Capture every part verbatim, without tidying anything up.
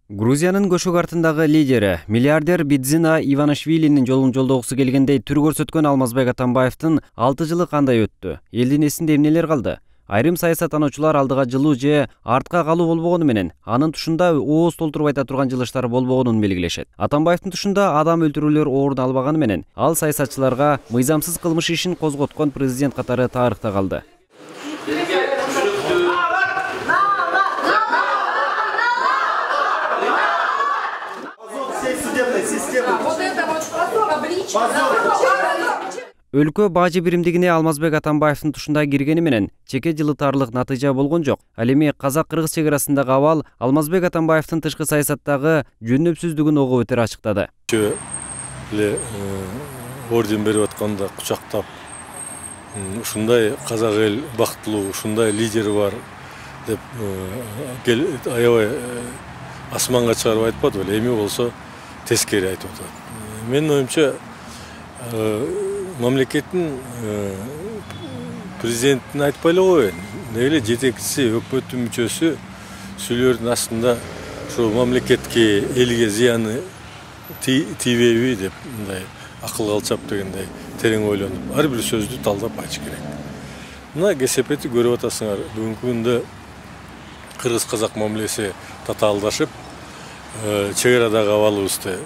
Грузиянын көшөк артындагы лидери, миллиардер Бидзина Иванишвилинин жолун жолдогусу келгендей түр көрсөткөн Алмазбек Атамбаевдин алты жылы кандай өттү? Элдин эсинде эмнелер калды? Айрым саясаттануучулар алдыга жылуу же артка калуу болбогону менен, анын тушунда ооз толтуруп айта турган жылыштар болбогонун белгилешет. Атамбаевдин тушунда адам өлтүрүүлөр орун албаганы менен, ал саясатчыларга мыйзамсыз кылмыш ишин козготкон президент катары тарыхта калды. Өлкө бажы биримдигине Алмазбек Атамбаевдин тушунда киргени менен чеке жылытарлык натыйжа болгон жок. Ал эми казак-кыргыз чек-арасындагы абал Алмазбек Атамбаевдин тышкы саясаттагы жөнөпсүздүгүн огуп өтөр ачыктады. Эле орден берип атканда кучактап, ушундай казак эл бактылуу, ушундай лидери бар деп аябай асманга чыгарып айтпады беле, эми болсо тескери айтып атат. Менин оюмча, мамлекеттин президентин айтпай эле коеюн. Эле жетекчиси, өкмөттүн мүчөсү сүйлөрдүн астында ушул мамлекетке, элге зыяны тийбейби деп мындай акыл алчап дегендей терең ойлонуп, ар бир сөздү талдап айтыш керек. Мына кесепети көрүп атасыңар, бүгүнкү күндө кыргыз-казак мамилеси татаалдашып, чек арадагы абалыбызды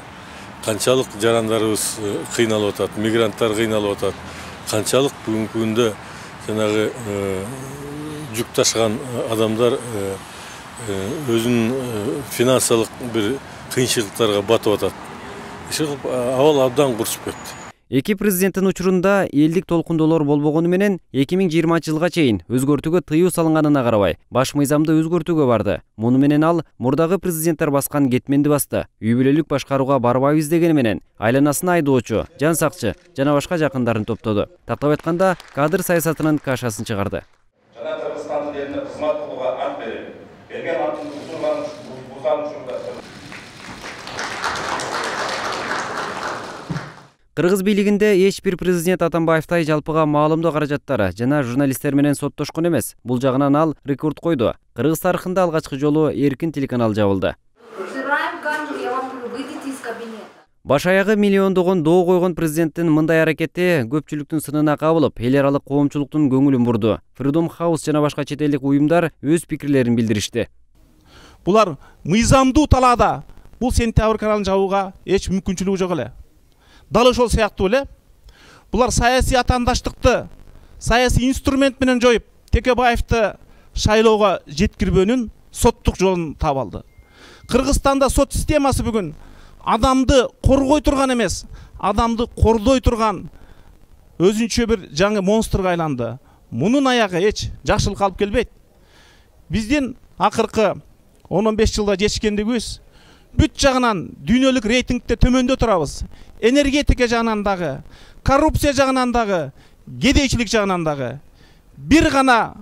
канчалык жарандарыбыз кыйналып атат, мигранттар кыйналып атат, канчалык бүгүнкү күндө жанагы жүк ташыган адамдар өзүнүн финансылык бир кыйынчылыктарга батып атат. Абал абдан курчуп кетти. Эки президенттин учурунда элдик толкундоолор болбогону менен эки миң жыйырманчы жылга чейин өзгөртүүгө тыюу салынганына карабай, баш мыйзамды өзгөртүүгө барды. Муну менен ал мурдагы президенттер баскан кетменди басты. Үй бүлөлүк башкарууга барбайбыз дегени менен айланасына айдоочу, жан сакчы жана башка жакындарын топтоду. Тактап айтканда, кадр саясатынын кашасын чыгарды. Жана Кыргызстандын элине кызмат кылууга ант берип, берген антын бузулган бузган учурда Кыргыз бийлигинде эч бир президент Атамбаевтай жалпыга маалымдоо каражаттары жана журналисттер менен соттошкон эмес. Бул жагынан ал рекорд койду. Кыргыз тарыхында алгачкы жолу эркин телеканал жабылды. Баш аягы миллиондогон доо койгон президенттин мындай аракети көпчүлүктүн сынына кабылып, эл аралык коомчулуктун көңүлүн бурду. Freedom House жана башка чет элдик уюмдар өз пикирлерин билдиришти. Булар мыйзамдуу талаада бул сентябрь каналын жабууга эч мүмкүнчүлүгү жок эле. Дал ошол сыяктуу эле булар саясий атаандаштыкты саясий инструмент менен жоюп, Текебаевди шайлоого жеткирбөөнүн соттук жолун таап алды. Кыргызстанда сот системасы бүгүн адамды коргой турган эмес, адамды кордой турган өзүнчө бир жаңы монстрга айланды. Мунун аягы эч жакшылыкка алып келбейт. Биздин акыркы он он беш жылда жетишкендигибиз бүт жагынан дүйнөлүк рейтингде төмөндө турабыз. Энергетика жагынан дагы, коррупция жагынан дагы, кедейчилик жагынан дагы бир гана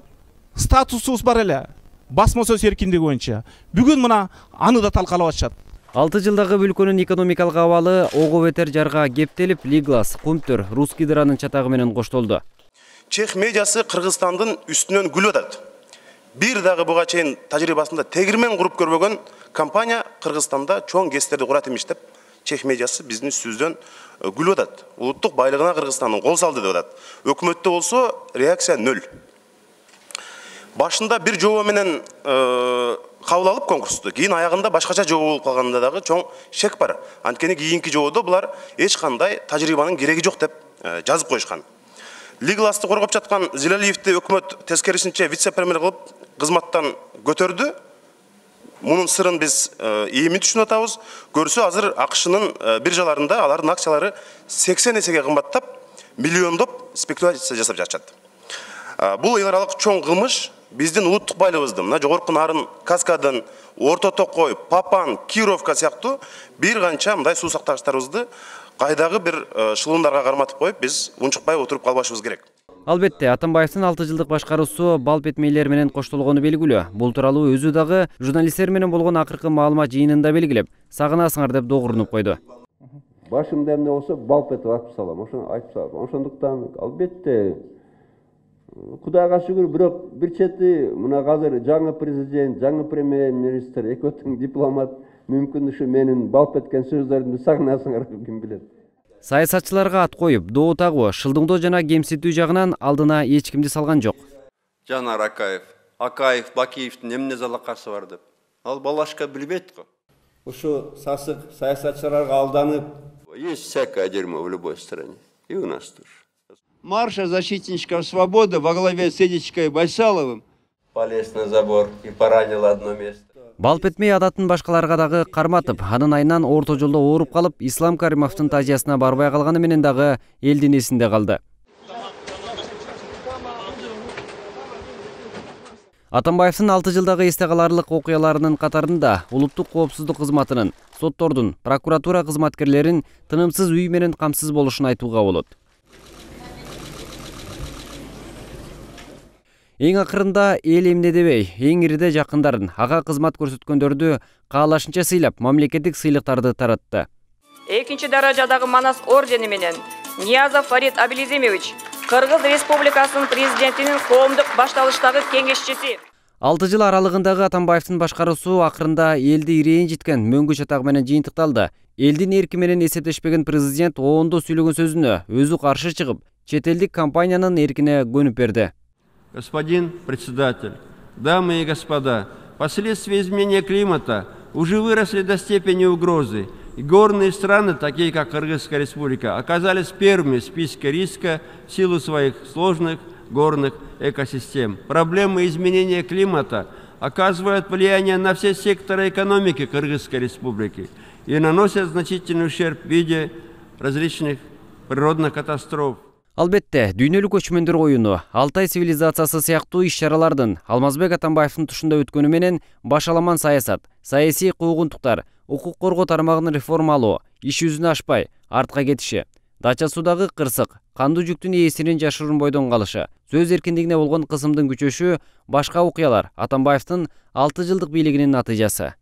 статусубуз бар эле. Басма сөз эркиндиги боюнча. Бүгүн мына аны да талкалап атышат. алты жылдагы өлкөнүн экономикалык абалы ого бетер жарга кептелип, Лиглас, Кумтөр, Русский дыранын чатагы менен коштолду. Чех медиасы Кыргызстандын үстүнөн күлүп атат. Бир дагы буга чейин тажрыйбасында тегирмен куруп көрбөгөн компания Кыргызстанда чоң кестерди курат эмиш деп Чех медиасы биздин үстүбүздөн күлүп атат. Улуттук байлыгына Кыргызстандын кол салды деп атат. Өкмөттө болсо реакция нөл. Башында бир жобо менен кабыл алып конкурсту, кийин аягында башкача жобо болуп калганда дагы чоң шек бар. Анткени кийинки жободо булар эч кандай тажрыйбанын кереги жок деп жазып коюшкан. Лигласты коргоп жаткан Зилалиевди өкмөт тескерисинче вице-премьер кылып кызматтан көтөрдү. Мунун сырын биз эми түшүнүп атабыз. Көрсө азыр АКШнын биржаларында алардын акциялары сексен эсеге кымбаттап, миллиондоп спекуляция жасап жатышат. Бул эл аралык чоң кылмыш биздин улуттук байлыгыбызды, мына жогорку нарын, Каскадын, Орто Токой, Папан, Кировка сыяктуу бир канча мындай суу сактагычтарыбызды кайдагы бир шылуундарга карматып коюп, биз унчукпай отуруп калбашыбыз керек. Албетте, Атамбаевдин алты жылдык башкаруусу бал бетмейлер менен коштолгону белгилүү. Бул тууралуу өзү дагы журналисттер менен болгон акыркы маалымат жыйынында белгилеп, сагынасыңар деп догурунуп койду. Башымда эмне болсо балп этип айтып салам, ошону айтып салам. Ошондуктан албетте Кудайга шүгүр, бирок бир чети мына азыр жаңы президент, жаңы премьер-министр, экөөтүң дипломат, мүмкүн ушу менин балп эткен сөздөрүмдү сагынасыңар, ким билет. Саясатчыларга ат коюп, доо тагуу шылдыңдоо жана кемсинтүү жагынан алдына эч кимди салган жок. Жанар Акаев, Акаев, Бакиевдин эмне залакасы бар деп. Ал балашка билбейт го. Ушу сасык саясатчыларга алданып, есть всякое дерьмо в любой стране. И у нас тоже. Марша защитничков свободы во главе с Эдичкой Байсаловым Полез на забор и поранил одно место. Балп этмей адатын башкаларга дагы карматып, анын айынан орто жолдо ооруп калып, Ислам Каримовдун тазиясына барбай калганы менен дагы элдин эсинде калды. Атамбаевдин алты жылдагы эсте каларлык окуяларынын катарында улуттук коопсуздук кызматынын, соттордун, прокуратура кызматкерлерин тынымсыз үй менен камсыз болушун айтууга болот. Эң акырында эл эмне дебей, эң ириде жакындарын, ага кызмат көрсөткөндөрдү каалашынча сыйлап, мамлекеттик сыйлыктарды таратты. Экинчи даражадагы Манас ордени менен Ниязов Фарид Абилизимович, Кыргыз Республикасынын президентинин коомдук башталыштагы кеңешчиси. алты жыл аралыгындагы Атамбаевдин башкаруусу акырында элди ирээин жеткен мөңгү чатак менен жыйынтыкталды. Элдин эрки менен эсептешпеген президент оондо сүйлөгөн сөзүнө өзү каршы чыгып, чет элдик компаниянын эркине көнүп берди. Господин председатель, дамы и господа, последствия изменения климата уже выросли до степени угрозы. И горные страны, такие как Кыргызская республика, оказались первыми в списке риска в силу своих сложных горных экосистем. Проблемы изменения климата оказывают влияние на все секторы экономики Кыргызской республики и наносят значительный ущерб в виде различных природных катастроф. Албетте, дүйнөлүк көчмөндөр оюну, Алтай цивилизациясы сыяктуу иш-чаралардын Алмазбек Атамбаевдин тушунда өткөнү менен башаламан саясат, саясий куугунтуктар, укук коргоо тармагын реформалоо, иш жүзүнө ашпай, артка кетиши, Дача суудагы кырсык, кандуу жүктүн ээсинин жашыруун бойдон калышы, сөз эркиндигине болгон кысымдын күчөшү, башка окуялар Атамбаевдин алты жылдык бийлигинин натыйжасы.